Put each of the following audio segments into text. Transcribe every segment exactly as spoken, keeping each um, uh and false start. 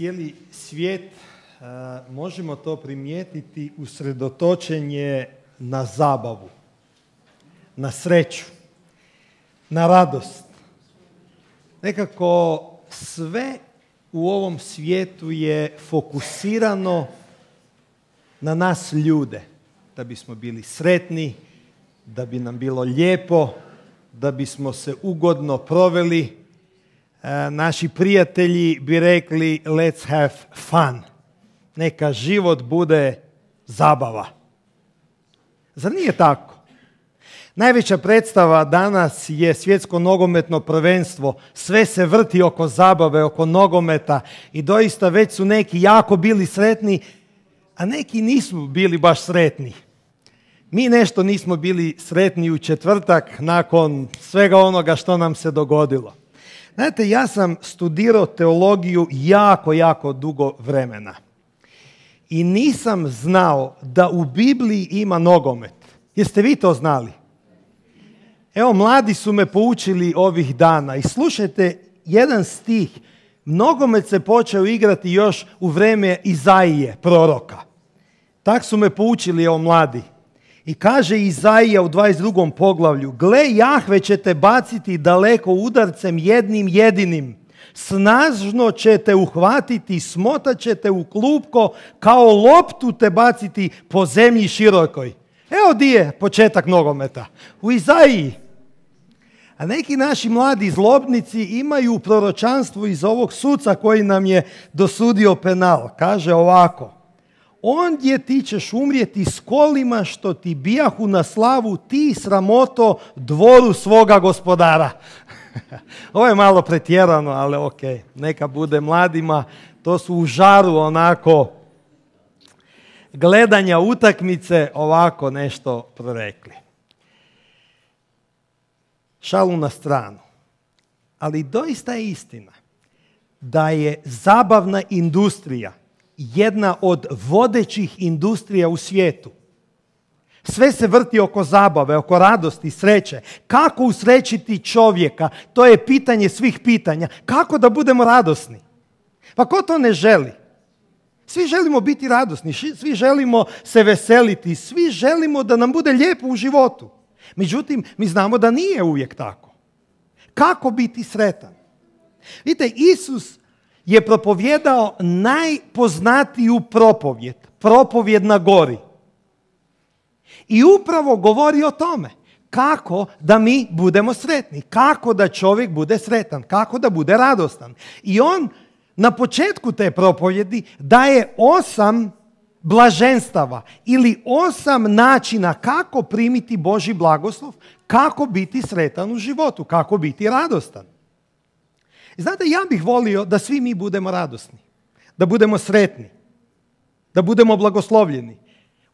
cijeli svijet, možemo to primijetiti, usredotočen je na zabavu, na sreću, na radost. Nekako sve u ovom svijetu je fokusirano na nas ljude, da bismo bili sretni, da bi nam bilo lijepo, da bismo se ugodno proveli. E, naši prijatelji bi rekli let's have fun. Neka život bude zabava. Zar nije tako? Najveća predstava danas je svjetsko nogometno prvenstvo. Sve se vrti oko zabave, oko nogometa i doista već su neki jako bili sretni, a neki nisu bili baš sretni. Mi nešto nismo bili sretni u četvrtak nakon svega onoga što nam se dogodilo. Znate, ja sam studirao teologiju jako, jako dugo vremena. I nisam znao da u Bibliji ima nogomet. Jeste vi to znali? Evo, mladi su me poučili ovih dana i slušajte jedan stih. Nogomet se počeo igrati još u vrijeme Izaije, proroka. Tak su me poučili, evo, mladi. I kaže Izaija u dvadeset drugom poglavlju: gle, Jahve će te baciti daleko udarcem jednim jedinim. Snažno će te uhvatiti, smotat će te u klupko, kao loptu te baciti po zemlji širokoj. Evo di je početak nogometa. U Izaiji. A neki naši mladi zlobnici imaju proročanstvo iz ovog suca koji nam je dosudio penal. Kaže ovako: ondje ti ćeš umrijeti s kolima što ti bijahu na slavu, ti sramoto dvoru svoga gospodara. Ovo je malo pretjerano, ali ok, neka bude mladima. To su u žaru onako gledanja utakmice ovako nešto prorekli. Šalu na stranu. Ali doista je istina da je zabavna industrija jedna od vodećih industrija u svijetu. Sve se vrti oko zabave, oko radosti, sreće. Kako usrećiti čovjeka? To je pitanje svih pitanja. Kako da budemo radosni? Pa ko to ne želi? Svi želimo biti radosni, svi želimo se veseliti, svi želimo da nam bude lijepo u životu. Međutim, mi znamo da nije uvijek tako. Kako biti sretan? Vidite, Isus je propovjedao najpoznatiju propovjed, propovjed na gori. I upravo govori o tome kako da mi budemo sretni, kako da čovjek bude sretan, kako da bude radostan. I on na početku te propovjedi daje osam blaženstava ili osam načina kako primiti Božji blagoslov, kako biti sretan u životu, kako biti radostan. I znate, ja bih volio da svi mi budemo radosni, da budemo sretni, da budemo blagoslovljeni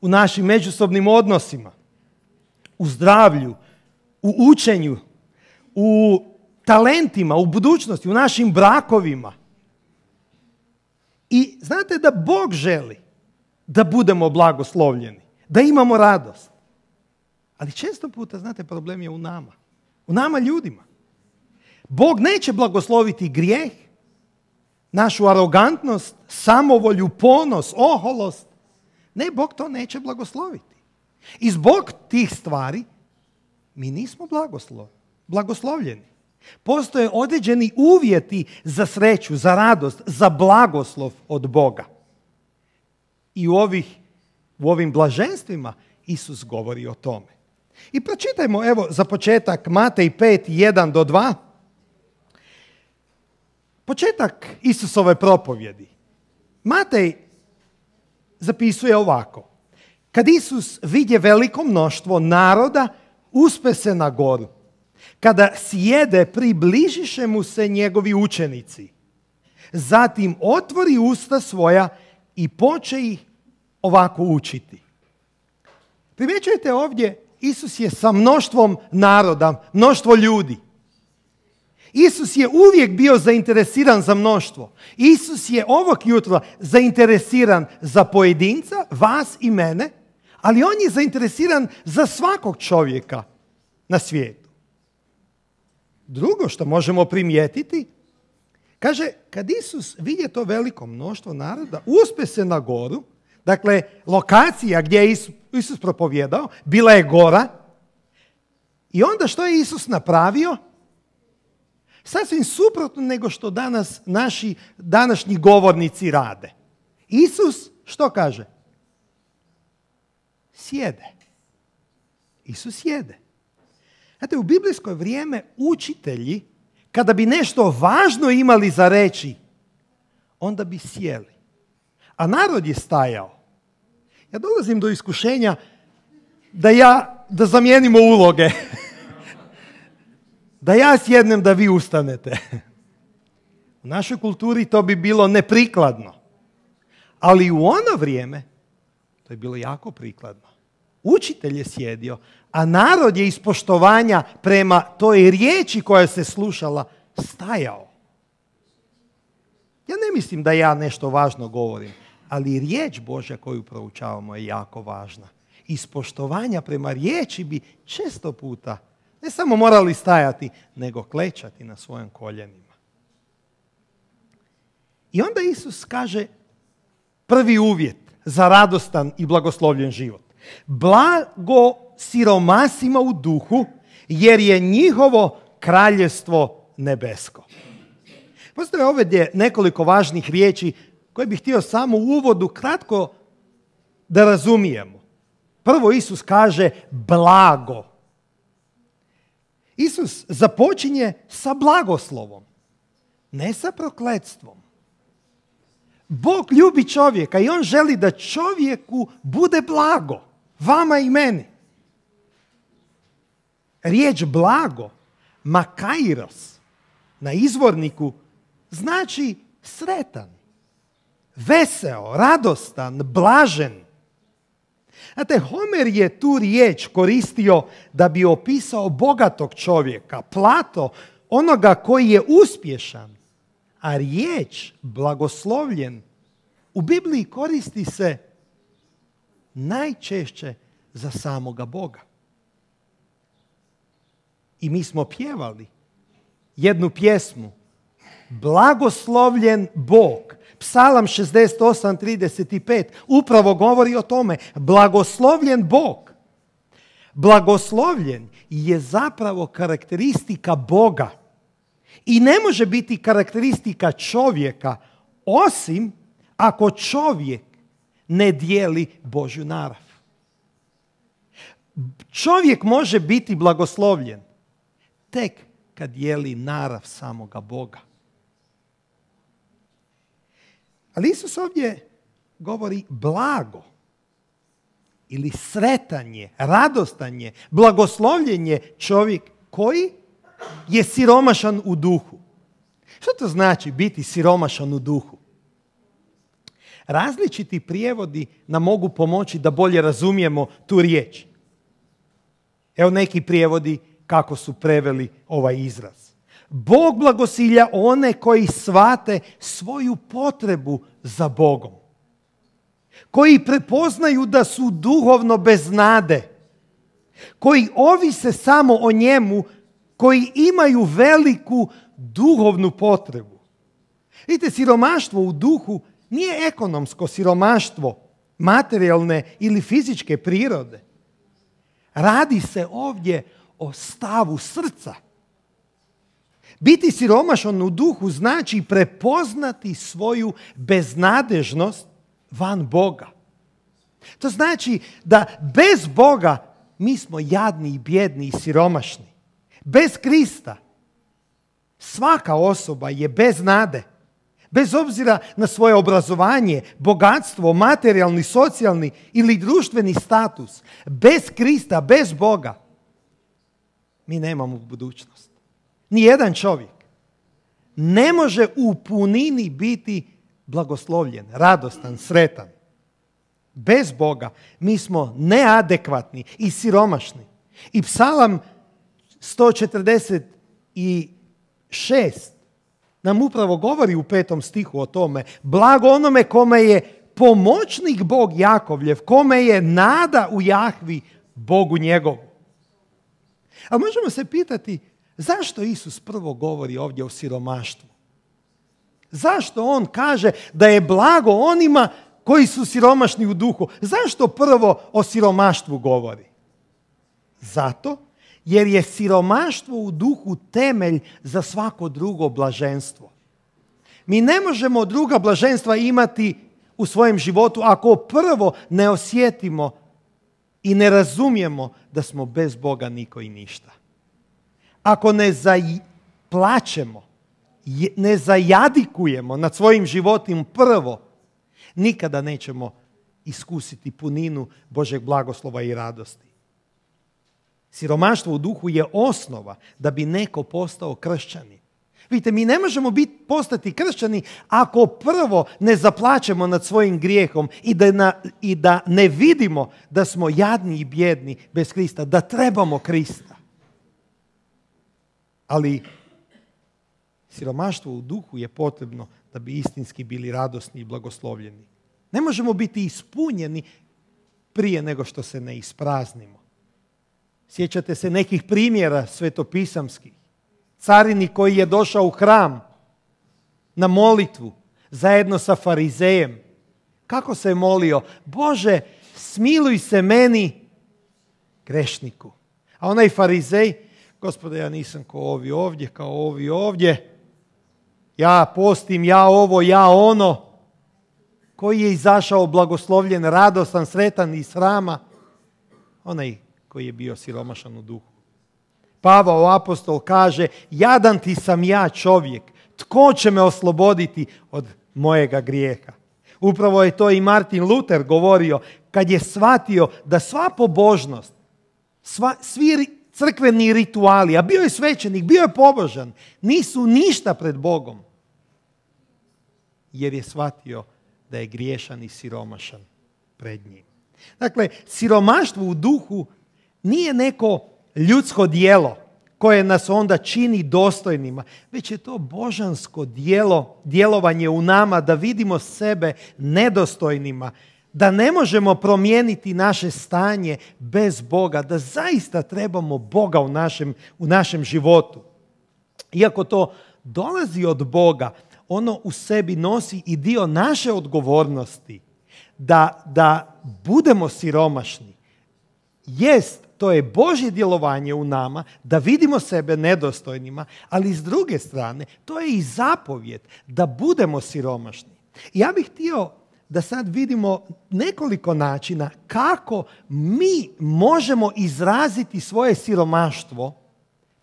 u našim međusobnim odnosima, u zdravlju, u učenju, u talentima, u budućnosti, u našim brakovima. I znate da Bog želi da budemo blagoslovljeni, da imamo radost. Ali često puta, znate, problem je u nama, u nama ljudima. Bog neće blagosloviti grijeh, našu arogantnost, samovolju, ponos, oholost. Ne, Bog to neće blagosloviti. I zbog tih stvari mi nismo blagoslov, blagoslovljeni. Postoje određeni uvjeti za sreću, za radost, za blagoslov od Boga. I u, ovih, u ovim blaženstvima Isus govori o tome. I pročitajmo, evo, za početak Matej pet, jedan do dva. Početak Isusove propovjedi. Matej zapisuje ovako: kad Isus vidje veliko mnoštvo naroda, uspe se na goru. Kada sjede, približiše mu se njegovi učenici. Zatim otvori usta svoja i poče ih ovako učiti. Primjećujete ovdje, Isus je sa mnoštvom naroda, mnoštvo ljudi. Isus je uvijek bio zainteresiran za mnoštvo. Isus je ovog jutra zainteresiran za pojedinca, vas i mene, ali on je zainteresiran za svakog čovjeka na svijetu. Drugo što možemo primijetiti, Kaže, kad Isus vidje to veliko mnoštvo naroda, uspe se na goru, dakle, lokacija gdje je Isus, Isus propovjedao, bila je gora. I onda što je Isus napravio? Sasvim suprotno nego što danas naši današnji govornici rade. Isus što kaže? Sjede. Isus sjede. Znate, u biblijsko vrijeme učitelji, kada bi nešto važno imali za reći, onda bi sjeli. A narod je stajao. Ja dolazim do iskušenja da ja, da zamijenimo uloge. Da ja sjednem, da vi ustanete. U našoj kulturi to bi bilo neprikladno. Ali u ono vrijeme to je bilo jako prikladno. Učitelj je sjedio, a narod je iz poštovanja prema toj riječi koja se slušala stajao. Ja ne mislim da ja nešto važno govorim, ali riječ Božja koju proučavamo je jako važna. Iz poštovanja prema riječi bi često puta ne samo morali stajati, nego klečati na svojim koljenima. I onda Isus kaže prvi uvjet za radostan i blagoslovljen život. Blago siromasima u duhu, jer je njihovo kraljevstvo nebesko. Postoje ovdje nekoliko važnih riječi koje bih htio samo u uvodu kratko da razumijemo. Prvo Isus kaže blago. Isus započinje sa blagoslovom, ne sa prokletstvom. Bog ljubi čovjeka i on želi da čovjeku bude blago, vama i meni. Riječ blago, makairos, na izvorniku znači sretan, veseo, radostan, blažen. Znate, Homer je tu riječ koristio da bi opisao bogatog čovjeka, Plato, onoga koji je uspješan. A riječ blagoslovljen u Bibliji koristi se najčešće za samoga Boga. I mi smo pjevali jednu pjesmu, blagoslovljen Bog. Psalam šezdeset osam trideset pet upravo govori o tome, blagoslovljen Bog. Blagoslovljen je zapravo karakteristika Boga i ne može biti karakteristika čovjeka osim ako čovjek ne dijeli Božju narav. Čovjek može biti blagoslovljen tek kad dijeli narav samoga Boga. Ali Isus ovdje govori blago ili sretanje, radostanje, blagoslovljenje čovjek koji je siromašan u duhu. Što to znači biti siromašan u duhu? Različiti prijevodi nam mogu pomoći da bolje razumijemo tu riječ. Evo neki prijevodi kako su preveli ovaj izraz. Bog blagosilja one koji shvate svoju potrebu za Bogom. Koji prepoznaju da su duhovno bez nade. Koji ovise samo o njemu, koji imaju veliku duhovnu potrebu. Vidite, siromaštvo u duhu nije ekonomsko siromaštvo materijalne ili fizičke prirode. Radi se ovdje o stavu srca. Biti siromašan u duhu znači prepoznati svoju beznadežnost van Boga. To znači da bez Boga mi smo jadni i bjedni i siromašni. Bez Krista svaka osoba je bez nade. Bez obzira na svoje obrazovanje, bogatstvo, materijalni, socijalni ili društveni status. Bez Krista, bez Boga mi nemamo budućnost. Nijedan čovjek ne može u punini biti blagoslovljen, radostan, sretan. Bez Boga mi smo neadekvatni i siromašni. I Psalam sto četrdeset šest nam upravo govori u petom stihu o tome. Blago onome kome je pomoćnik Bog Jakovljev, kome je nada u Jahvi, Bogu njegovu. A možemo se pitati zašto Isus prvo govori ovdje o siromaštvu? Zašto on kaže da je blago onima koji su siromašni u duhu? Zašto prvo o siromaštvu govori? Zato jer je siromaštvo u duhu temelj za svako drugo blaženstvo. Mi ne možemo druga blaženstva imati u svojem životu ako prvo ne osjetimo i ne razumijemo da smo bez Boga niko i ništa. Ako ne zaplačemo, ne zajadikujemo nad svojim životom prvo, nikada nećemo iskusiti puninu Božeg blagoslova i radosti. Siromaštvo u duhu je osnova da bi neko postao kršćanin. Vidite, mi ne možemo biti, postati kršćani ako prvo ne zaplačemo nad svojim grijehom i da, na, i da ne vidimo da smo jadni i bjedni bez Krista, da trebamo Krista. Ali siromaštvo u duhu je potrebno da bi istinski bili radosni i blagoslovljeni. Ne možemo biti ispunjeni prije nego što se ne ispraznimo. Sjećate se nekih primjera svetopisamskih. Carinik koji je došao u hram na molitvu zajedno sa farizejem. Kako se je molio? Bože, smiluj se meni, grešniku. A onaj farizej, Gospode, ja nisam kao ovi ovdje, kao ovi ovdje. Ja postim, ja ovo, ja ono. Koji je izašao blagoslovljen, radostan, sretan iz hrama? Onaj koji je bio siromašan u duhu. Pavao apostol kaže, jadan ti sam ja čovjek, tko će me osloboditi od mojega grijeha? Upravo je to i Martin Luther govorio kad je shvatio da sva pobožnost, sva, svi crkveni rituali, a bio je svećenik, bio je pobožan, nisu ništa pred Bogom. Jer je shvatio da je griješan i siromašan pred njim. Dakle, siromaštvo u duhu nije neko ljudsko djelo koje nas onda čini dostojnima, već je to božansko djelo, djelovanje u nama da vidimo sebe nedostojnima, da ne možemo promijeniti naše stanje bez Boga, da zaista trebamo Boga u našem, u našem životu. Iako to dolazi od Boga, ono u sebi nosi i dio naše odgovornosti da, da budemo siromašni. Jest, to je Božje djelovanje u nama, da vidimo sebe nedostojnima, ali s druge strane, to je i zapovjed da budemo siromašni. I ja bih htio da sad vidimo nekoliko načina kako mi možemo izraziti svoje siromaštvo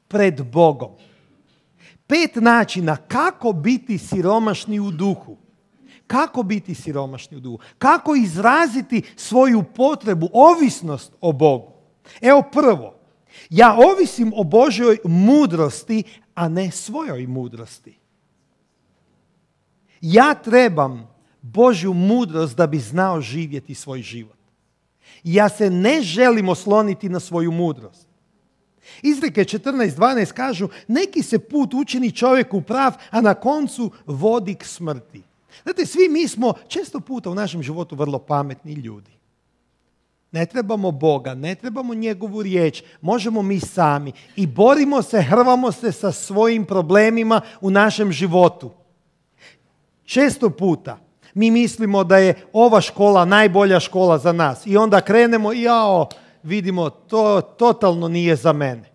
pred Bogom. Pet načina kako biti siromašni u duhu. Kako biti siromašni u duhu? Kako izraziti svoju potrebu, ovisnost o Bogu? Evo prvo, ja ovisim o Božjoj mudrosti, a ne svojoj mudrosti. Ja trebam Božju mudrost da bi znao živjeti svoj život. Ja se ne želim osloniti na svoju mudrost. Izreke četrnaest dvanaest kažu, neki se put učini čovjeku prav, a na koncu vodi k smrti. Znate, svi mi smo često puta u našem životu vrlo pametni ljudi. Ne trebamo Boga, ne trebamo njegovu riječ, možemo mi sami i borimo se, hrvamo se sa svojim problemima u našem životu. Često puta mi mislimo da je ova škola najbolja škola za nas i onda krenemo i jao, vidimo, to totalno nije za mene.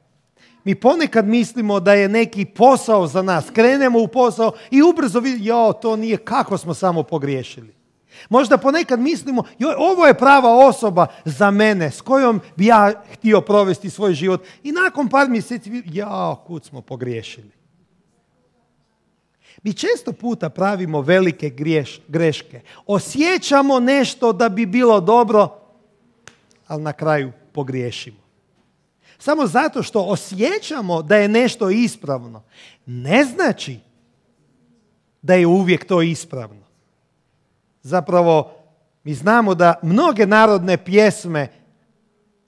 Mi ponekad mislimo da je neki posao za nas, krenemo u posao i ubrzo vidimo, jao, to nije, kako smo samo pogriješili. Možda ponekad mislimo, joj, ovo je prava osoba za mene s kojom bi ja htio provesti svoj život. I nakon par mjeseci, jao, kud smo pogriješili. Mi često puta pravimo velike griješ, greške. Osjećamo nešto da bi bilo dobro, ali na kraju pogriješimo. Samo zato što osjećamo da je nešto ispravno, ne znači da je uvijek to ispravno. Zapravo, mi znamo da mnoge narodne pjesme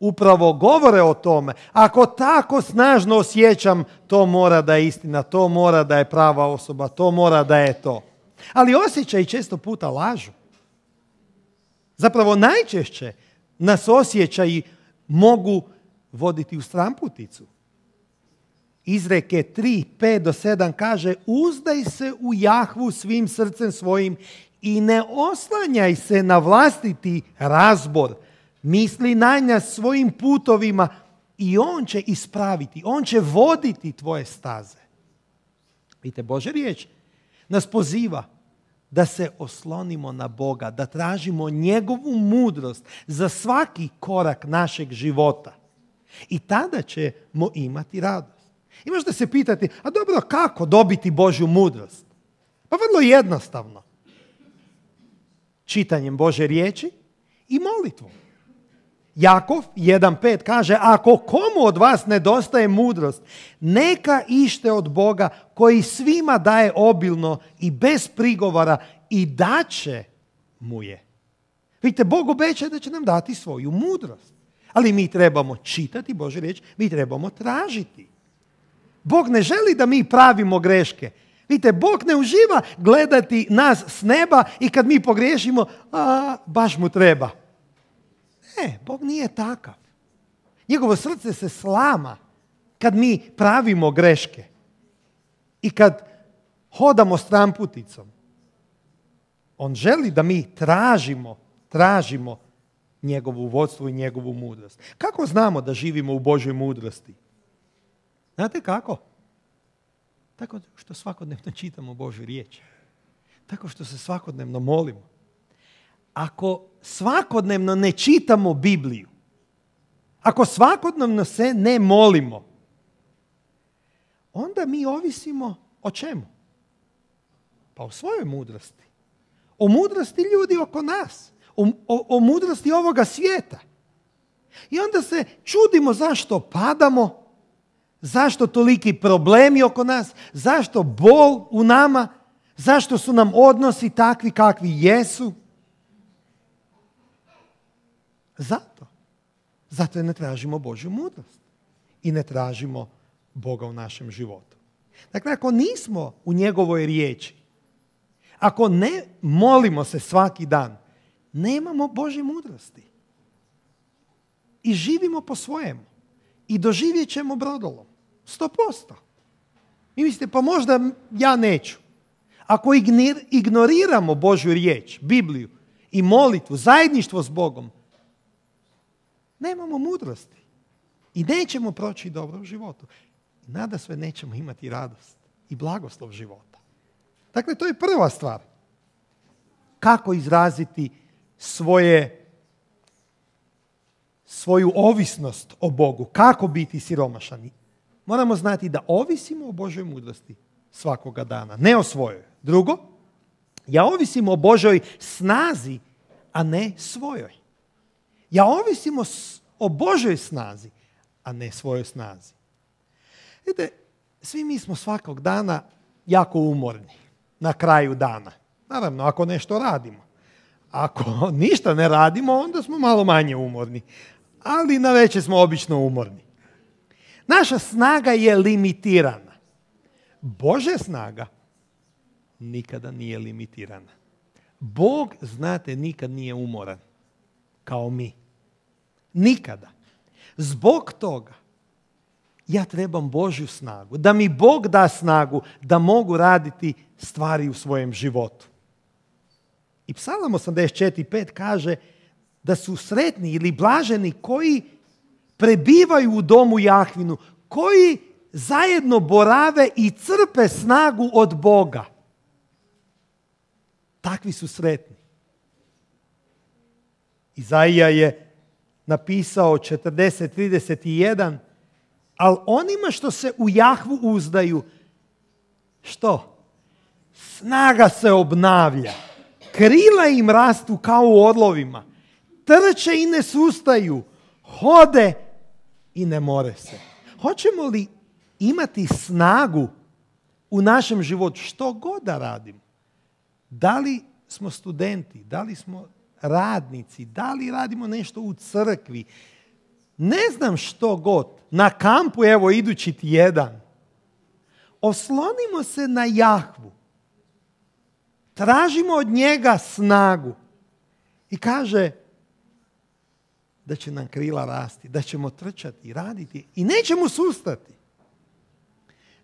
upravo govore o tome. Ako tako snažno osjećam, to mora da je istina, to mora da je prava osoba, to mora da je to. Ali osjećaji često puta lažu. Zapravo, najčešće nas osjećaji mogu voditi u stramputicu. Izreke tri, pet do sedam kaže: uzdaj se u Jahvu svim srcem svojim i ne oslanjaj se na vlastiti razbor. Misli na njega svojim putovima i on će ispraviti, on će voditi tvoje staze. Vidite, Božja riječ nas poziva da se oslonimo na Boga, da tražimo njegovu mudrost za svaki korak našeg života. I tada ćemo imati radost. I možete se pitati, a dobro, kako dobiti Božju mudrost? Pa vrlo jednostavno. Čitanjem Božje riječi i molitvom. Jakov jedan pet kaže: ako komu od vas nedostaje mudrost, neka ište od Boga koji svima daje obilno i bez prigovora i daće mu je. Vidite, Bog obećaje da će nam dati svoju mudrost. Ali mi trebamo čitati Božju riječ, mi trebamo tražiti. Bog ne želi da mi pravimo greške. Vidite, Bog ne uživa gledati nas s neba i kad mi pogriješimo, a baš mu treba. Ne, Bog nije takav. Njegovo srce se slama kad mi pravimo greške i kad hodamo stramputicom. On želi da mi tražimo, tražimo njegovu vodstvo i njegovu mudrost. Kako znamo da živimo u Božoj mudrosti? Znate kako? Tako što svakodnevno čitamo Božju riječ. Tako što se svakodnevno molimo. Ako svakodnevno ne čitamo Bibliju, ako svakodnevno se ne molimo, onda mi ovisimo o čemu? Pa o svojoj mudrosti. O mudrosti ljudi oko nas. O, o, o mudrosti ovoga svijeta. I onda se čudimo zašto padamo, zašto toliki problemi oko nas, zašto bol u nama, zašto su nam odnosi takvi kakvi jesu. Zato. Zato je ne tražimo Božju mudrost. I ne tražimo Boga u našem životu. Dakle, ako nismo u njegovoj riječi, ako ne molimo se svaki dan, nemamo Božje mudrosti. I živimo po svojemu. I doživjet ćemo brodolom. Sto posto. I mislite, pa možda ja neću. Ako ignoriramo Božju riječ, Bibliju i molitvu, zajedništvo s Bogom, nemamo mudrosti. I nećemo proći dobro u životu. I nada sve nećemo imati radost i blagoslov života. Dakle, to je prva stvar. Kako izraziti svoje, svoju ovisnost o Bogu. Kako biti siromašani. Moramo znati da ovisimo o Božoj mudrosti svakoga dana. Ne o svojoj. Drugo, ja ovisim o Božoj snazi, a ne svojoj. Ja ovisim o, o Božoj snazi, a ne svojoj snazi. Vidite, svi mi smo svakog dana jako umorni na kraju dana. Naravno, ako nešto radimo. Ako ništa ne radimo, onda smo malo manje umorni. Ali na večer smo obično umorni. Naša snaga je limitirana. Božja snaga nikada nije limitirana. Bog, znate, nikad nije umoran kao mi. Nikada. Zbog toga ja trebam Božju snagu. Da mi Bog da snagu da mogu raditi stvari u svojem životu. I Psalam osamdeset četiri pet kaže da su sretni ili blaženi koji prebivaju u domu Jahvinu, koji zajedno borave i crpe snagu od Boga. Takvi su sretni. Izaija je napisao četrdeset trideset jedan, ali onima što se u Jahvu uzdaju, što? Snaga se obnavlja. Krila im rastu kao u orlovima. Trče i ne sustaju. Hode i ne more se. Hoćemo li imati snagu u našem životu što god da radimo? Da li smo studenti, da li smo radnici, da li radimo nešto u crkvi, ne znam što god, na kampu, evo idući tjedan, oslonimo se na Jahvu, tražimo od njega snagu i kaže da će nam krila rasti, da ćemo trčati, raditi i nećemo sustati.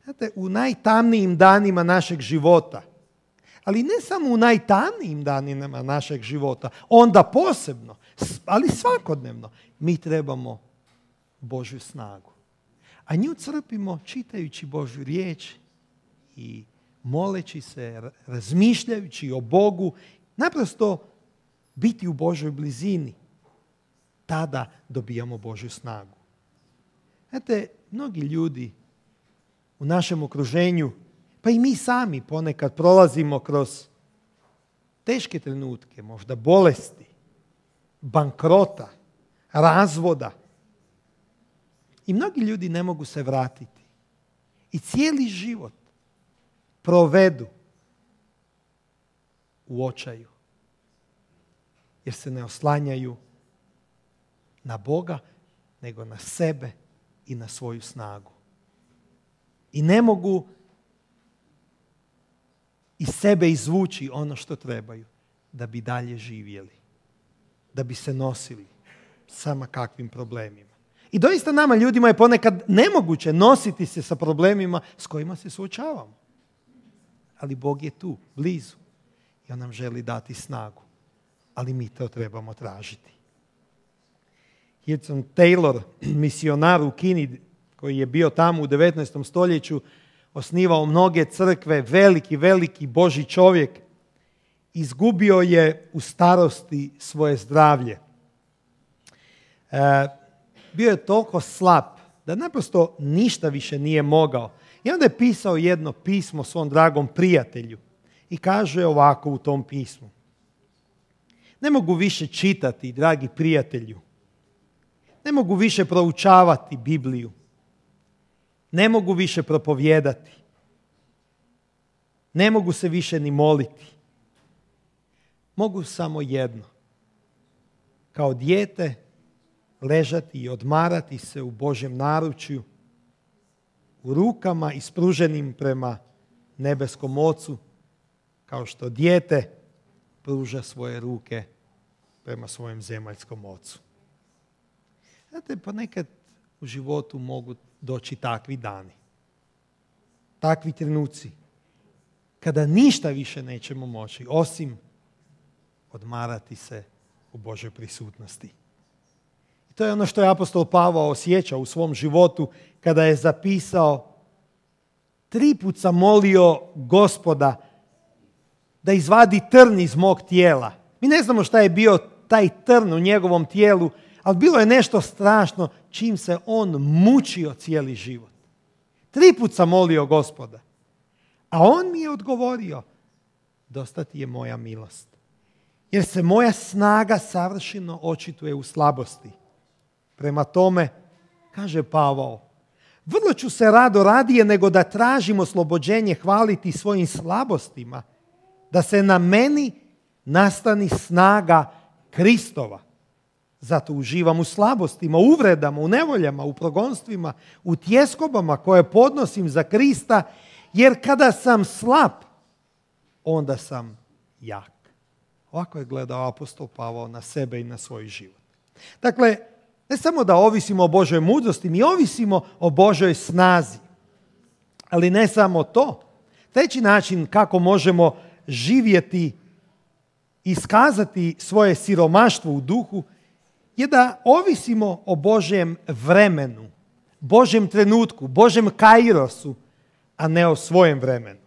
Znate, u najtamnijim danima našeg života, ali ne samo u najtamnijim danima našeg života, onda posebno, ali svakodnevno, mi trebamo Božju snagu. A nju crpimo čitajući Božju riječ i moleći se, razmišljajući o Bogu, naprosto biti u Božoj blizini. Tada dobijamo Božju snagu. Znate, mnogi ljudi u našem okruženju, pa i mi sami ponekad prolazimo kroz teške trenutke, možda bolesti, bankrota, razvoda. I mnogi ljudi ne mogu se vratiti. I cijeli život provedu u očaju. Jer se ne oslanjaju na Boga, nego na sebe i na svoju snagu. I ne mogu iz sebe izvući ono što trebaju da bi dalje živjeli, da bi se nosili sama kakvim problemima. I doista nama ljudima je ponekad nemoguće nositi se sa problemima s kojima se suočavamo. Ali Bog je tu, blizu. I on nam želi dati snagu. Ali mi to trebamo tražiti. Hudson Taylor, misionar u Kini, koji je bio tamo u devetnaestom stoljeću, osnivao mnoge crkve, veliki, veliki Božji čovjek, izgubio je u starosti svoje zdravlje. E, bio je toliko slab da naprosto ništa više nije mogao. I onda je pisao jedno pismo svom dragom prijatelju i kaže ovako u tom pismu. Ne mogu više čitati, dragi prijatelju. Ne mogu više proučavati Bibliju. Ne mogu više propovijedati. Ne mogu se više ni moliti. Mogu samo jedno. Kao dijete ležati i odmarati se u Božjem naručju, u rukama ispruženim prema nebeskom Ocu, kao što dijete pruža svoje ruke prema svojem zemaljskom Ocu. Znate, ponekad u životu mogu doći takvi dani, takvi trenuci, kada ništa više nećemo moći, osim odmarati se u Božoj prisutnosti. I to je ono što je apostol Pavao osjećao u svom životu kada je zapisao: tri put sam molio Gospoda da izvadi trn iz mog tijela. Mi ne znamo šta je bio taj trn u njegovom tijelu, ali bilo je nešto strašno čim se on mučio cijeli život. Tri put sam molio Gospoda, a on mi je odgovorio: dosta ti je moja milost, jer se moja snaga savršeno očituje u slabosti. Prema tome, kaže Pavao, vrlo ću se rado radije nego da tražim oslobođenje hvaliti svojim slabostima, da se na meni nastani snaga Kristova. Zato uživam u slabostima, uvredama, u nevoljama, u progonstvima, u tjeskobama koje podnosim za Krista, jer kada sam slab, onda sam jak. Ovako je gledao apostol Pavao na sebe i na svoj život. Dakle, ne samo da ovisimo o Božoj mudrosti, mi ovisimo o Božoj snazi. Ali ne samo to. Treći način kako možemo živjeti i iskazati svoje siromaštvo u duhu je da ovisimo o Božjem vremenu, Božjem trenutku, Božjem kairosu, a ne o svojem vremenu.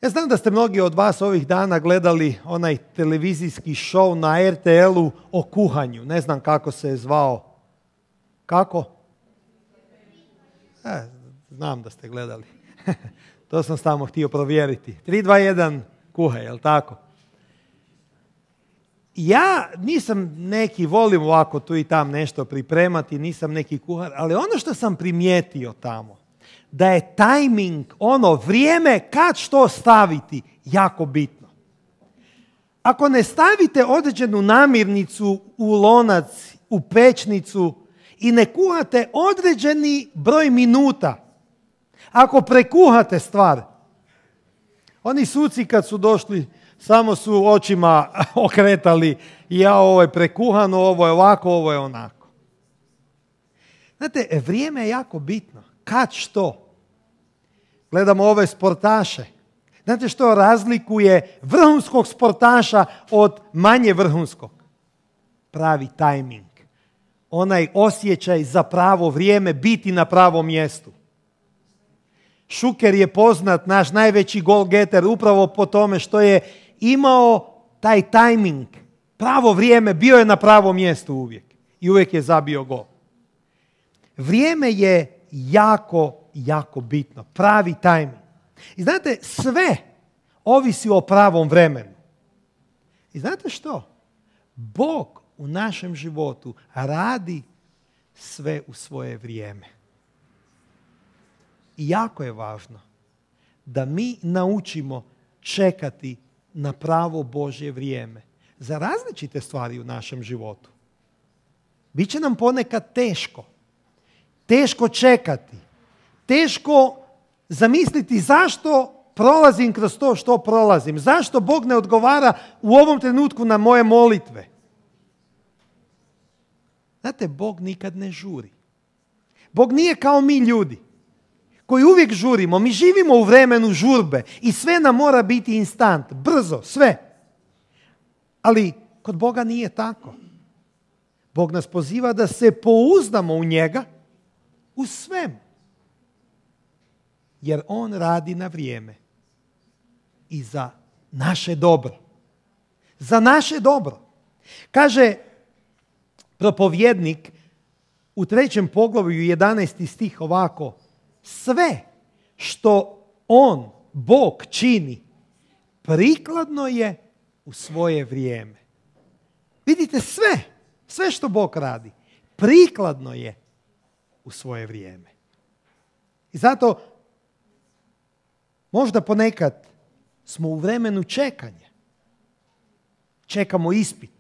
Ja znam da ste mnogi od vas ovih dana gledali onaj televizijski show na er te el-u o kuhanju. Ne znam kako se je zvao. Kako? E, znam da ste gledali. To sam samo htio provjeriti. tri, dva, jedan, kuhaj, jel tako? Ja nisam neki, volim ovako tu i tam nešto pripremati, nisam neki kuhar, ali ono što sam primijetio tamo, da je tajming, ono vrijeme kad što staviti, jako bitno. Ako ne stavite određenu namirnicu u lonac, u pečnicu i ne kuhate određeni broj minuta, ako prekuhate stvar, oni suci kad su došli samo su očima okretali: ja, ovo je prekuhano, ovo je ovako, ovo je onako. Znate, vrijeme je jako bitno. kad što. Gledamo ove sportaše. Znate što razlikuje vrhunskog sportaša od manje vrhunskog? Pravi tajming. Onaj osjećaj za pravo vrijeme, biti na pravom mjestu. Šuker je poznat, naš najveći golgeter, upravo po tome što je imao taj tajming, pravo vrijeme, bio je na pravom mjestu uvijek. I uvijek je zabio gol. Vrijeme je jako, jako bitno. Pravi tajming. I znate, sve ovisi o pravom vremenu. I znate što? Bog u našem životu radi sve u svoje vrijeme. I jako je važno da mi naučimo čekati na pravo Božje vrijeme za različite stvari u našem životu. Biće nam ponekad teško. Teško čekati. Teško zamisliti zašto prolazim kroz to što prolazim. Zašto Bog ne odgovara u ovom trenutku na moje molitve. Znate, Bog nikad ne žuri. Bog nije kao mi ljudi koji uvijek žurimo. Mi živimo u vremenu žurbe i sve nam mora biti instant, brzo, sve. Ali kod Boga nije tako. Bog nas poziva da se pouzdamo u njega u svemu. Jer on radi na vrijeme. I za naše dobro. Za naše dobro. Kaže propovjednik u trećem poglavlju jedanaesti stih ovako: sve što on, Bog, čini, prikladno je u svoje vrijeme. Vidite, sve, sve što Bog radi, prikladno je u svoje vrijeme. I zato možda ponekad smo u vremenu čekanja. Čekamo ispit,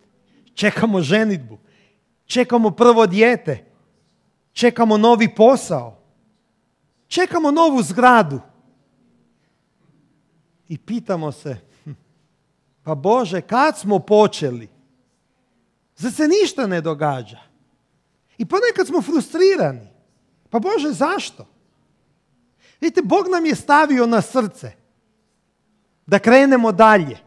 čekamo ženidbu, čekamo prvo dijete, čekamo novi posao, čekamo novu zgradu. I pitamo se, pa Bože, kad smo počeli? Zar se ništa ne događa? I ponekad smo frustrirani. Pa Bože, zašto? Vidite, Bog nam je stavio na srce da krenemo dalje.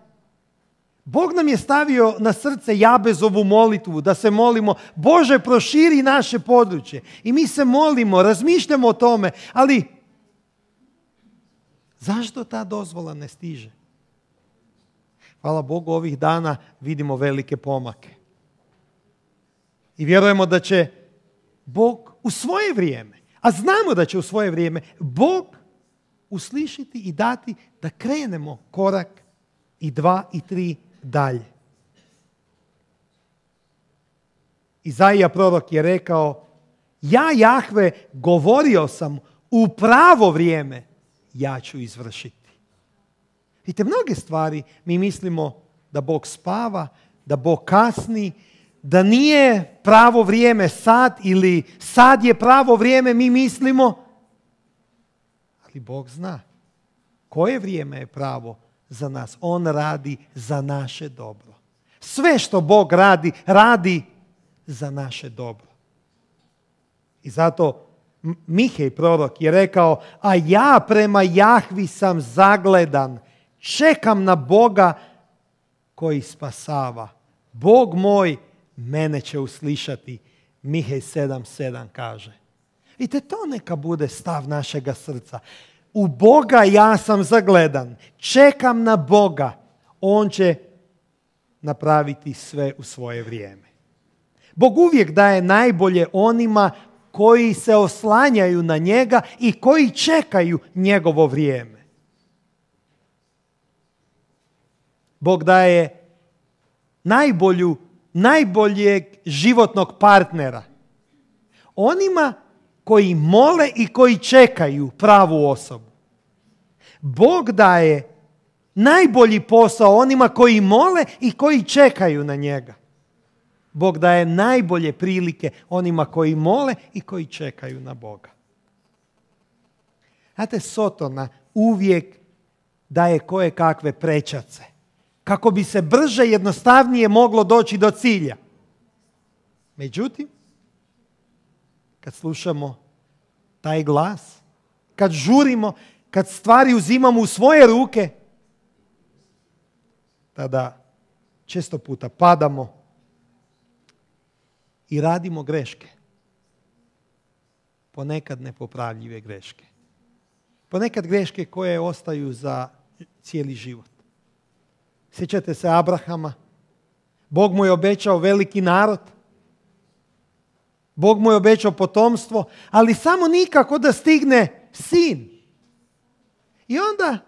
Bog nam je stavio na srce Jabezovu molitvu, da se molimo, Bože, proširi naše područje. I mi se molimo, razmišljamo o tome, ali zašto ta dozvola ne stiže? Hvala Bogu, ovih dana vidimo velike pomake. I vjerujemo da će Bog u svoje vrijeme, a znamo da će u svoje vrijeme Bog uslišiti i dati da krenemo korak i dva i tri dalje. Izaija prorok je rekao, ja Jahve govorio sam, u pravo vrijeme ja ću izvršiti. Vidite, mnoge stvari mi mislimo da Bog spava, da Bog kasni, da nije pravo vrijeme sad ili sad je pravo vrijeme, mi mislimo. Ali Bog zna koje vrijeme je pravo za nas. On radi za naše dobro. Sve što Bog radi, radi za naše dobro. I zato Mihej prorok je rekao, a ja prema Jahvi sam zagledan, čekam na Boga koji spasava. Bog moj mene će uslišati. Mihej sedam sedam kaže. Vidite, to neka bude stav našega srca. U Boga ja sam zagledan, čekam na Boga, on će napraviti sve u svoje vrijeme. Bog uvijek daje najbolje onima koji se oslanjaju na njega i koji čekaju njegovo vrijeme. Bog daje najbolju, najboljeg životnog partnera onima koji mole i koji čekaju pravu osobu. Bog daje najbolji posao onima koji mole i koji čekaju na njega. Bog daje najbolje prilike onima koji mole i koji čekaju na Boga. Znate, Sotona uvijek daje koje kakve prečace kako bi se brže, jednostavnije moglo doći do cilja. Međutim, kad slušamo taj glas, kad žurimo, kad stvari uzimamo u svoje ruke, tada često puta padamo i radimo greške. Ponekad nepopravljive greške. Ponekad greške koje ostaju za cijeli život. Sjećate se Abrahama? Bog mu je obećao veliki narod. Bog mu je obećao potomstvo, ali samo nikako da stigne sin. I onda,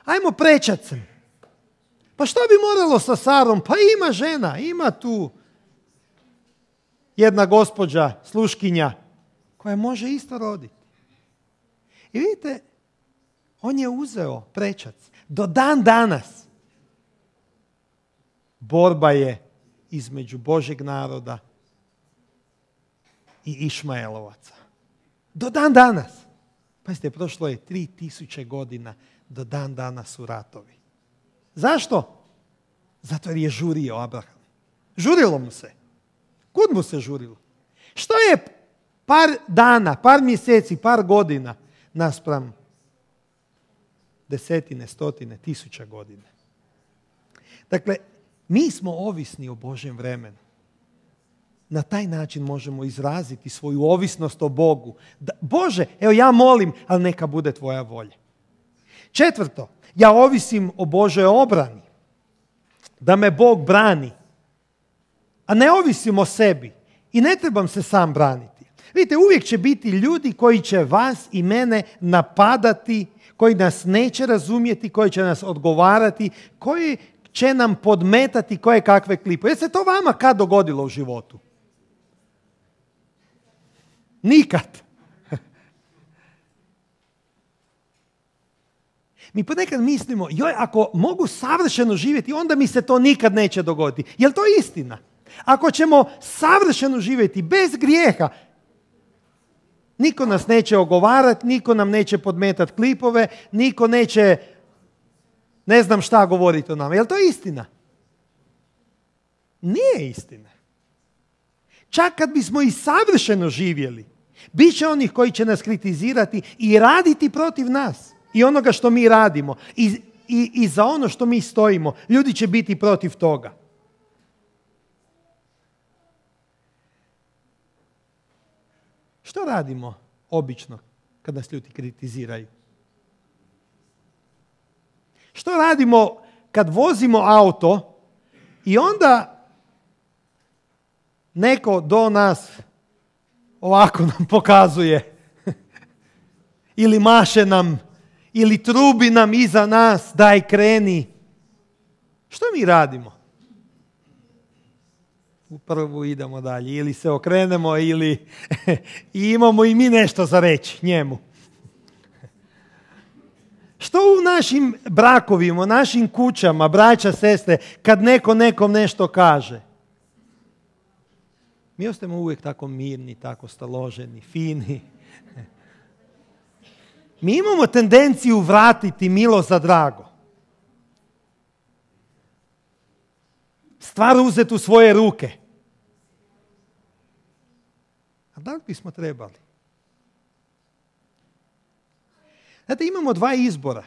ajmo prečat se. Pa što bi moralo sa Sarom? Pa ima žena, ima tu jedna gospođa, sluškinja, koja može isto roditi. I vidite, on je uzeo prečac. Do dan danas borba je između Božjeg naroda i Išmaelovaca. Do dan danas. Pazite, prošlo je tri tisuće godina, do dan danas su ratovi. Zašto? Zato jer je žurio Abraham. Žurilo mu se. Kud mu se žurilo? Što je par dana, par mjeseci, par godina naspram desetine, stotine, tisuća godina? Dakle, mi smo ovisni o Božjem vremenu. Na taj način možemo izraziti svoju ovisnost o Bogu. Da, Bože, evo ja molim, ali neka bude tvoja volja. Četvrto, ja ovisim o Božoj obrani. Da me Bog brani. A ne ovisim o sebi. I ne trebam se sam braniti. Vidite, uvijek će biti ljudi koji će vas i mene napadati, koji nas neće razumjeti, koji će nas odgovarati, koji će nam podmetati koje kakve klipove. Je se to vama kad dogodilo u životu? Nikad. Mi ponekad mislimo, joj, ako mogu savršeno živjeti, onda mi se to nikad neće dogoditi. Je li to istina? Ako ćemo savršeno živjeti bez grijeha, niko nas neće ogovarati, niko nam neće podmetati klipove, niko neće ne znam šta govoriti o nama. Je li to istina? Nije istina. Čak kad bismo i savršeno živjeli, bit će onih koji će nas kritizirati i raditi protiv nas i onoga što mi radimo i, i, i za ono što mi stojimo. Ljudi će biti protiv toga. Što radimo obično kad nas ljudi kritiziraju? Što radimo kad vozimo auto i onda neko do nas ovako nam pokazuje ili maše nam ili trubi nam iza nas, daj kreni. Što mi radimo? U prvu idemo dalje, ili se okrenemo ili i imamo i mi nešto za reći njemu. Što u našim brakovima, u našim kućama, braća, sestre, kad neko nekom nešto kaže? Mi ostajemo uvijek tako mirni, tako staloženi, fini. Mi imamo tendenciju vratiti milo za drago. Stvar uzeti u svoje ruke. A da li bismo trebali? Znate, imamo dva izbora.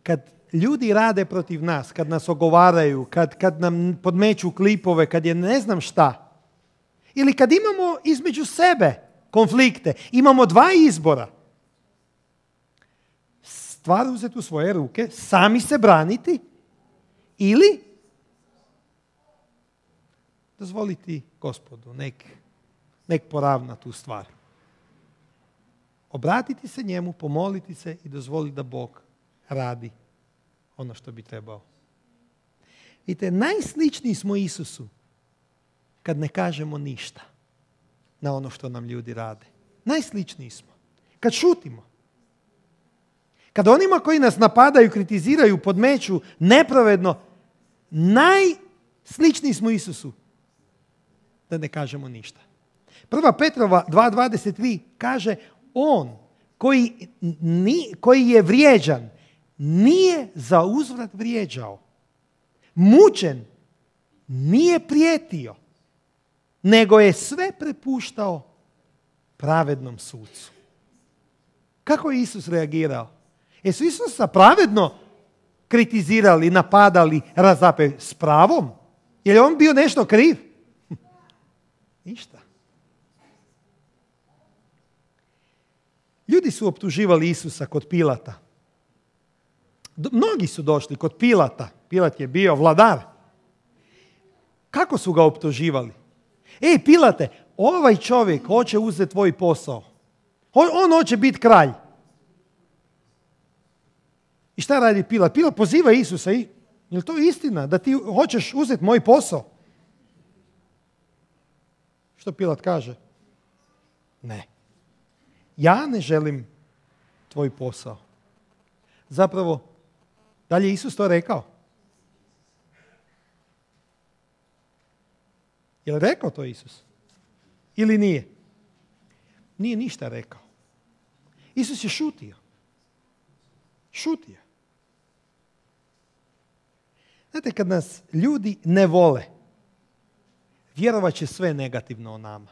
Kad ljudi rade protiv nas, kad nas ogovaraju, kad, kad nam podmeću klipove, kad je ne znam šta. Ili kad imamo između sebe konflikte. Imamo dva izbora. Stvar uzeti u svoje ruke, sami se braniti ili dozvoliti Gospodu, nek, nek poravna tu stvar. Obratiti se njemu, pomoliti se i dozvoliti da Bog radi ono što bi trebao. Vidite, najsličniji smo Isusu kad ne kažemo ništa na ono što nam ljudi rade. Najsličniji smo. Kad šutimo. Kad onima koji nas napadaju, kritiziraju, podmeću nepravedno, najsličniji smo Isusu da ne kažemo ništa. Prva Petrova dva dvadeset tri kaže, on koji, ni, koji je vrijeđan nije za uzvrat vrijeđao. Mučen nije prijetio, nego je sve prepuštao pravednom sucu. Kako je Isus reagirao? Jesu Isusa pravedno kritizirali, napadali, razapeli s pravom? Je li on bio nešto kriv? Ništa. Ljudi su optuživali Isusa kod Pilata. Mnogi su došli kod Pilata. Pilat je bio vladar. Kako su ga optuživali? Ej, Pilate, ovaj čovjek hoće uzeti tvoj posao. On, on hoće biti kralj. I šta radi Pilat? Pilat poziva Isusa. Je li to istina da ti hoćeš uzeti moj posao? Što Pilat kaže? Ne. Ja ne želim tvoj posao. Zapravo, da li je Isus to rekao? Je li rekao to Isus? Ili nije? Nije ništa rekao. Isus je šutio. Šutio. Znate, kad nas ljudi ne vole, vjerovat će sve negativno o nama.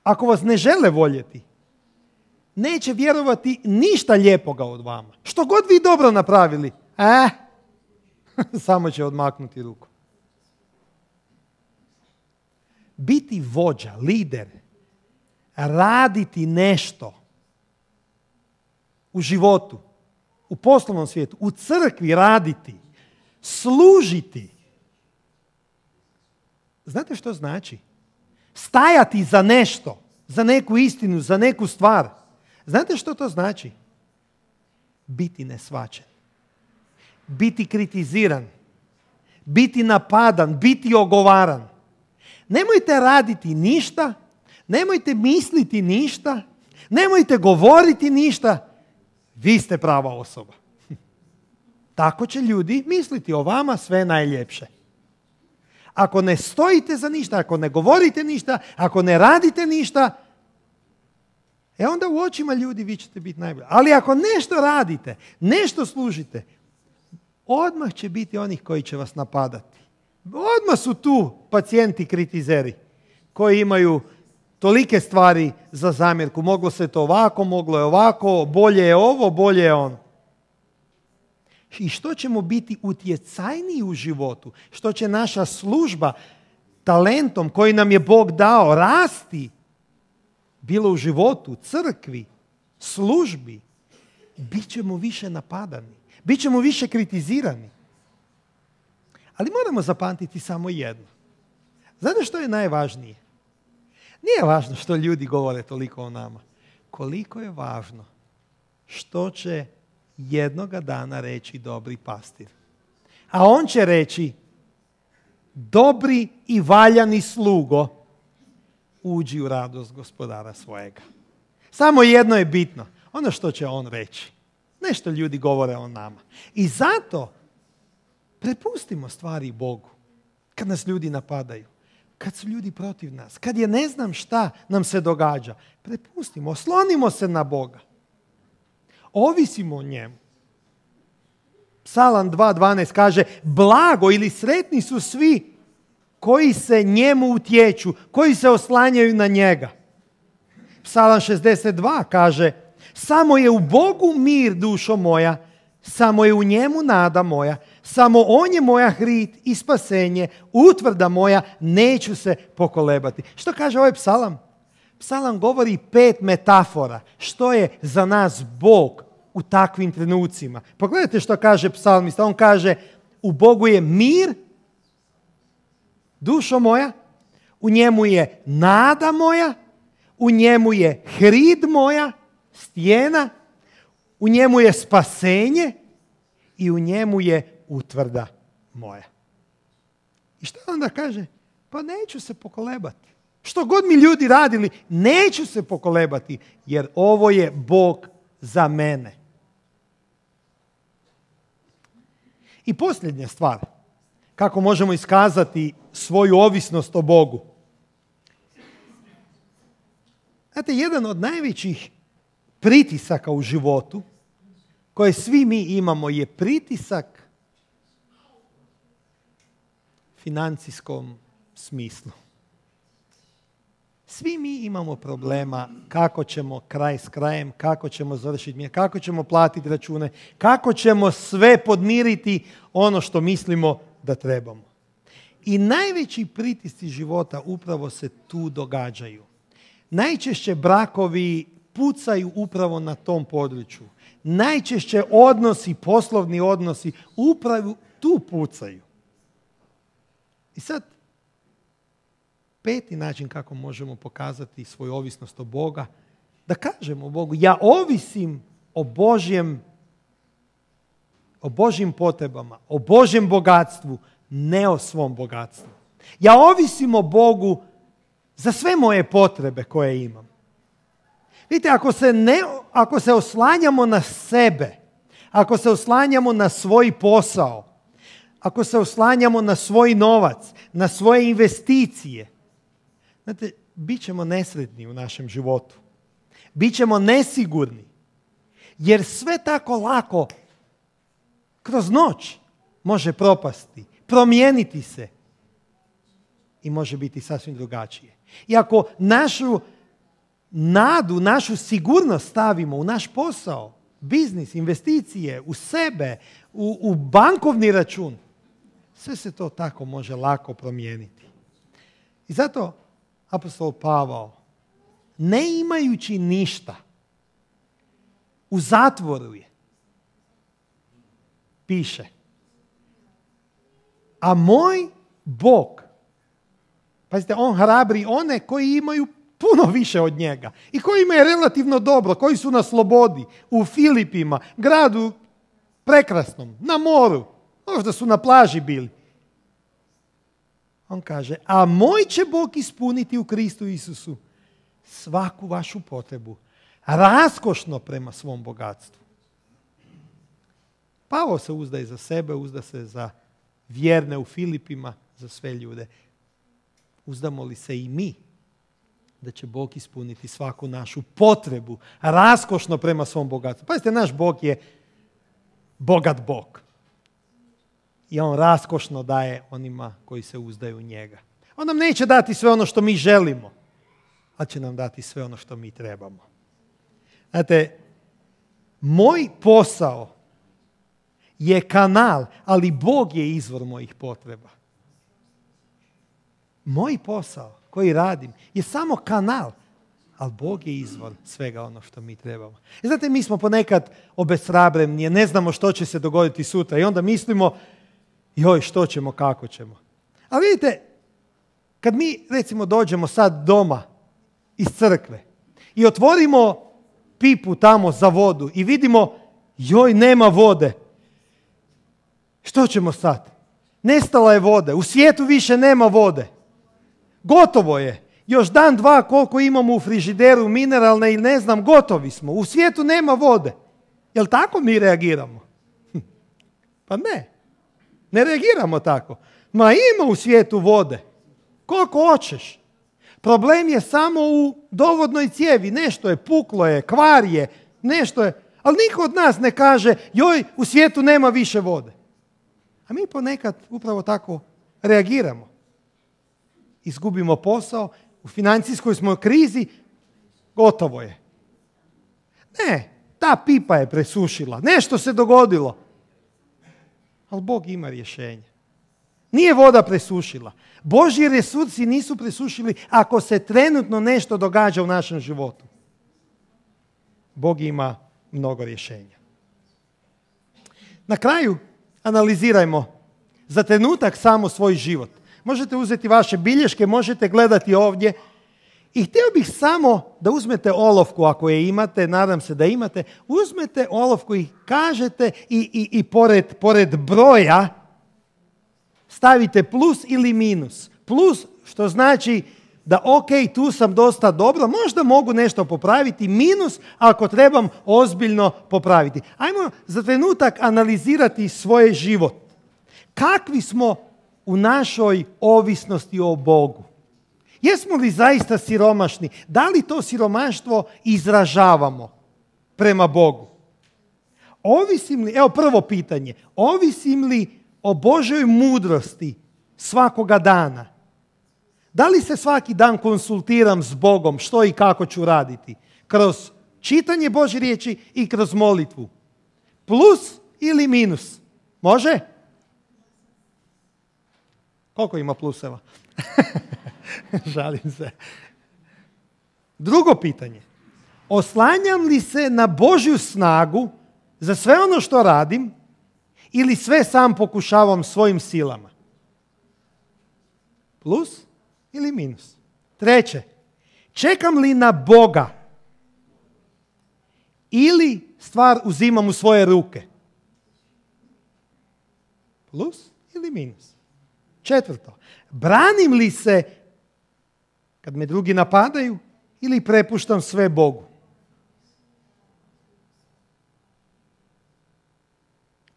Ako vas ne žele voljeti, neće vjerovati ništa lijepoga od vama. Što god vi dobro napravili, eh, samo će odmaknuti ruku. Biti vođa, lider, raditi nešto u životu, u poslovnom svijetu, u crkvi raditi, služiti. Znate što znači? Stajati za nešto, za neku istinu, za neku stvar. Znate što to znači? Biti neshvaćen. Biti kritiziran. Biti napadan, biti ogovaran. Nemojte raditi ništa, nemojte misliti ništa, nemojte govoriti ništa. Vi ste prava osoba. Tako će ljudi misliti o vama sve najljepše. Ako ne stojite za ništa, ako ne govorite ništa, ako ne radite ništa, e onda u očima ljudi vi ćete biti najbolji. Ali ako nešto radite, nešto služite, odmah će biti onih koji će vas napadati. Odmah su tu pacijenti kritizeri koji imaju tolike stvari za zamjerku. Moglo se to ovako, moglo je ovako, bolje je ovo, bolje je ono. I što ćemo biti utjecajniji u životu, što će naša služba talentom koji nam je Bog dao rasti, bilo u životu, crkvi, službi, bit ćemo više napadani, bit ćemo više kritizirani. Ali moramo zapamtiti samo jedno. Znate što je najvažnije? Nije važno što ljudi govore toliko o nama. Koliko je važno što će jednoga dana reći dobri pastir. A on će reći, dobri i valjani slugo, uđi u radost gospodara svojega. Samo jedno je bitno, ono što će on reći. Nešto ljudi govore o nama. I zato prepustimo stvari Bogu. Kad nas ljudi napadaju, kad su ljudi protiv nas, kad je ne znam šta nam se događa, prepustimo, oslonimo se na Boga. Ovisimo o njemu. Psalam dva dvanaest kaže, blago ili sretni su svi koji se njemu utječu, koji se oslanjaju na njega. Psalam šezdeset dva kaže, samo je u Bogu mir, dušo moja, samo je u njemu nada moja, samo on je moja hrit i spasenje, utvrda moja, neću se pokolebati. Što kaže ovaj psalam? Psalam govori pet metafora. Što je za nas Bog u takvim trenucima? Pogledajte što kaže psalmista. On kaže, u Bogu je mir, dušo moja, u njemu je nada moja, u njemu je hrid moja, stijena, u njemu je spasenje i u njemu je utvrda moja. I što onda kaže? Pa neću se pokolebati. Što god mi ljudi radili, neću se pokolebati, jer ovo je Bog za mene. I posljednja stvar, kako možemo iskazati svoju ovisnost o Bogu. Znate, jedan od najvećih pritisaka u životu koje svi mi imamo je pritisak financijskom smislu. Svi mi imamo problema kako ćemo kraj s krajem, kako ćemo završiti, kako ćemo platiti račune, kako ćemo sve podmiriti ono što mislimo da trebamo. I najveći pritisci života upravo se tu događaju. Najčešće brakovi pucaju upravo na tom području. Najčešće odnosi, poslovni odnosi, upravo tu pucaju. I sad, peti način kako možemo pokazati svoju ovisnost o Boga, da kažemo Bogu, ja ovisim o Božjem, o Božjim potrebama, o Božjem bogatstvu, ne o svom bogatstvu. Ja ovisim o Bogu za sve moje potrebe koje imam. Vidite, ako se, ne, ako se oslanjamo na sebe, ako se oslanjamo na svoj posao, ako se oslanjamo na svoj novac, na svoje investicije, znate, bit ćemo nesretni u našem životu. Bićemo nesigurni. Jer sve tako lako kroz noć može propasti, promijeniti se i može biti sasvim drugačije. I ako našu nadu, našu sigurnost stavimo u naš posao, biznis, investicije, u sebe, u, u bankovni račun, sve se to tako može lako promijeniti. I zato apostol Pavao, ne imajući ništa, u zatvoru je, piše, a moj Bog, pazite, on hrabri one koji imaju puno više od njega i koji imaju relativno dobro, koji su na slobodi, u Filipima, gradu prekrasnom, na moru, možda su na plaži bili. On kaže, a moj će Bog ispuniti u Kristu Isusu svaku vašu potrebu, raskošno prema svom bogatstvu. Pavao se uzdaje za sebe, uzda se za vjerne u Filipima, za sve ljude. Uzdamo li se i mi da će Bog ispuniti svaku našu potrebu, raskošno prema svom bogatstvu? Pazite, naš Bog je bogat Bog. I on raskošno daje onima koji se uzdaju u njega. On nam neće dati sve ono što mi želimo, ali će nam dati sve ono što mi trebamo. Znate, moj posao je kanal, ali Bog je izvor mojih potreba. Moj posao koji radim je samo kanal, ali Bog je izvor svega ono što mi trebamo. I znate, mi smo ponekad obeshrabreni, ne znamo što će se dogoditi sutra i onda mislimo, joj, što ćemo, kako ćemo. A vidite, kad mi recimo dođemo sad doma iz crkve i otvorimo pipu tamo za vodu i vidimo, joj, nema vode. Što ćemo sad? Nestala je vode, u svijetu više nema vode. Gotovo je. Još dan, dva, koliko imamo u frižideru mineralne ili ne znam, gotovi smo. U svijetu nema vode. Jel tako mi reagiramo? Pa ne. Ne reagiramo tako. Ma ima u svijetu vode. Koliko hoćeš. Problem je samo u dovodnoj cijevi. Nešto je puklo je, kvar je, nešto je. Ali niko od nas ne kaže, joj, u svijetu nema više vode. A mi ponekad upravo tako reagiramo. Izgubimo posao, u financijskoj smo krizi, gotovo je. Ne, ta pipa je presušila, nešto se dogodilo. Ali Bog ima rješenje. Nije voda presušila. Božji resursi nisu presušili ako se trenutno nešto događa u našem životu. Bog ima mnogo rješenja. Na kraju analizirajmo za trenutak samo svoj život. Možete uzeti vaše bilješke, možete gledati ovdje. I htio bih samo da uzmete olovku ako je imate, nadam se da imate, uzmete olovku i kažete i, i, i pored, pored broja stavite plus ili minus. Plus što znači da ok, tu sam dosta dobro, možda mogu nešto popraviti, minus ako trebam ozbiljno popraviti. Ajmo za trenutak analizirati svoj život. Kakvi smo u našoj ovisnosti o Bogu? Jesmo li zaista siromašni? Da li to siromaštvo izražavamo prema Bogu? Ovisim li, evo prvo pitanje, ovisim li o Božoj mudrosti svakoga dana? Da li se svaki dan konsultiram s Bogom što i kako ću raditi? Kroz čitanje Božje riječi i kroz molitvu. Plus ili minus? Može? Koliko ima pluseva? Žalim se. Drugo pitanje. Oslanjam li se na Božju snagu za sve ono što radim ili sve sam pokušavam svojim silama? Plus ili minus? Treće. Čekam li na Boga ili stvar uzimam u svoje ruke? Plus ili minus? Četvrto. Branim li se kad me drugi napadaju ili prepuštam sve Bogu?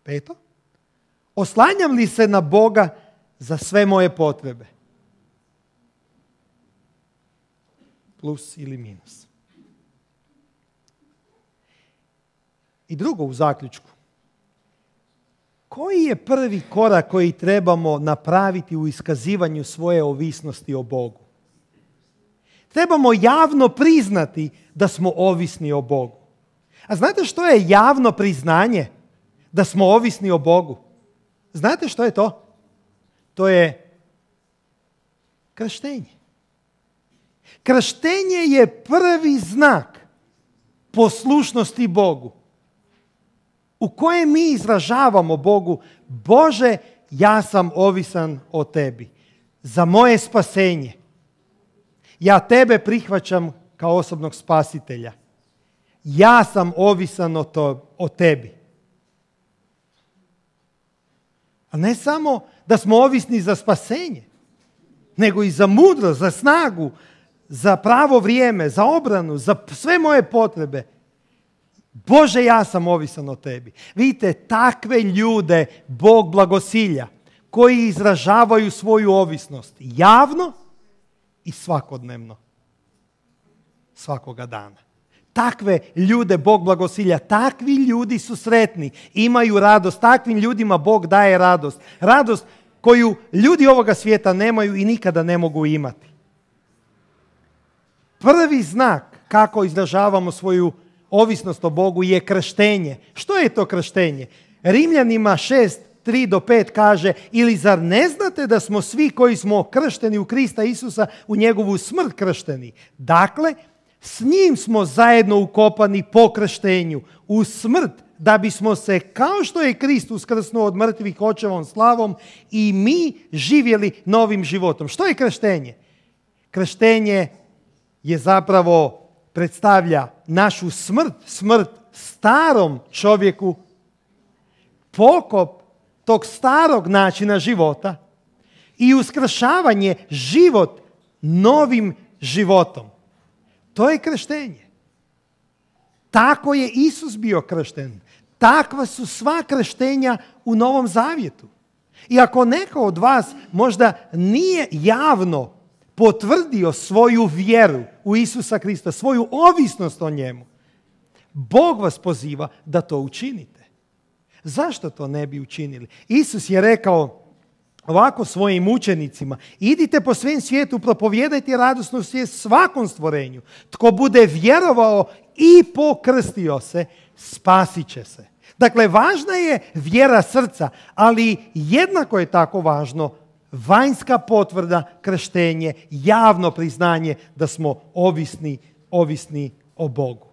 Peto. Oslanjam li se na Boga za sve moje potrebe? Plus ili minus? I drugo, u zaključku. Koji je prvi korak koji trebamo napraviti u iskazivanju svoje ovisnosti o Bogu? Trebamo javno priznati da smo ovisni o Bogu. A znate što je javno priznanje da smo ovisni o Bogu? Znate što je to? To je krštenje. Krštenje je prvi znak poslušnosti Bogu, u kojem mi izražavamo Bogu: Bože, ja sam ovisan o tebi za moje spasenje. Ja tebe prihvaćam kao osobnog spasitelja. Ja sam ovisan o, to, o tebi. A ne samo da smo ovisni za spasenje, nego i za mudrost, za snagu, za pravo vrijeme, za obranu, za sve moje potrebe. Bože, ja sam ovisan o tebi. Vidite, takve ljude Bog blagosilja, koji izražavaju svoju ovisnost javno i svakodnevno, svakoga dana. Takve ljude Bog blagosilja, takvi ljudi su sretni, imaju radost, takvim ljudima Bog daje radost. Radost koju ljudi ovoga svijeta nemaju i nikada ne mogu imati. Prvi znak kako izražavamo svoju ovisnost o Bogu je krštenje. Što je to krštenje? Rimljanima šest, tri do pet kaže: ili zar ne znate da smo svi koji smo kršteni u Krista Isusa u njegovu smrt kršteni? Dakle, s njim smo zajedno ukopani po krštenju u smrt, da bismo se, kao što je Krist uskrsnuo od mrtvih očevom slavom, i mi živjeli novim životom. Što je krštenje? Krštenje je zapravo predstavlja našu smrt, smrt starom čovjeku, pokop tog starog načina života i uskršavanje život novim životom. To je krštenje. Tako je Isus bio kršten. Takva su sva krštenja u Novom Zavjetu. I ako neko od vas možda nije javno potvrdio svoju vjeru u Isusa Krista, svoju ovisnost o njemu, Bog vas poziva da to učinite. Zašto to ne bi učinili? Isus je rekao ovako svojim učenicima: idite po svem svijetu, propovijedajte radosnu svijest svakom stvorenju. Tko bude vjerovao i pokrstio se, spasit će se. Dakle, važna je vjera srca, ali jednako je tako važno vanjska potvrda, krštenje, javno priznanje da smo ovisni, ovisni o Bogu.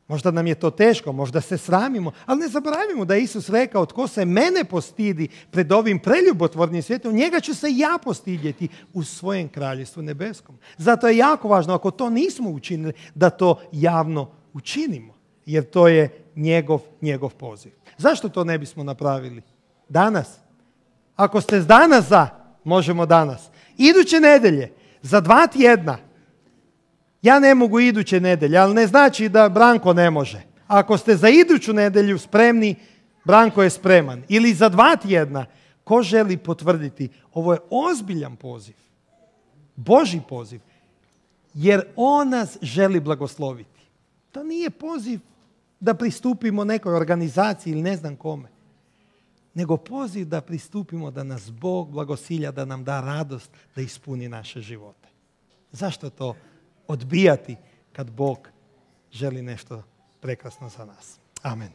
Možda nam je to teško, možda se sramimo, ali ne zaboravimo da je Isus rekao: tko se mene postidi pred ovim preljubotvornim svijetom, njega ću se ja postidjeti u svojem kraljevstvu nebeskom. Zato je jako važno, ako to nismo učinili, da to javno učinimo, jer to je njegov, njegov poziv. Zašto to ne bismo napravili danas? Ako ste danas za, možemo danas. Iduće nedjelje, za dva tjedna, ja ne mogu iduće nedjelje, ali ne znači da Branko ne može. Ako ste za iduću nedjelju spremni, Branko je spreman. Ili za dva tjedna, ko želi potvrditi? Ovo je ozbiljan poziv. Božji poziv. Jer on nas želi blagosloviti. To nije poziv da pristupimo nekoj organizaciji ili ne znam kome. nego poziv da pristupimo da nas Bog blagosilja, da nam da radost, da ispuni naše živote. Zašto to odbijati kad Bog želi nešto prekrasno za nas? Amen.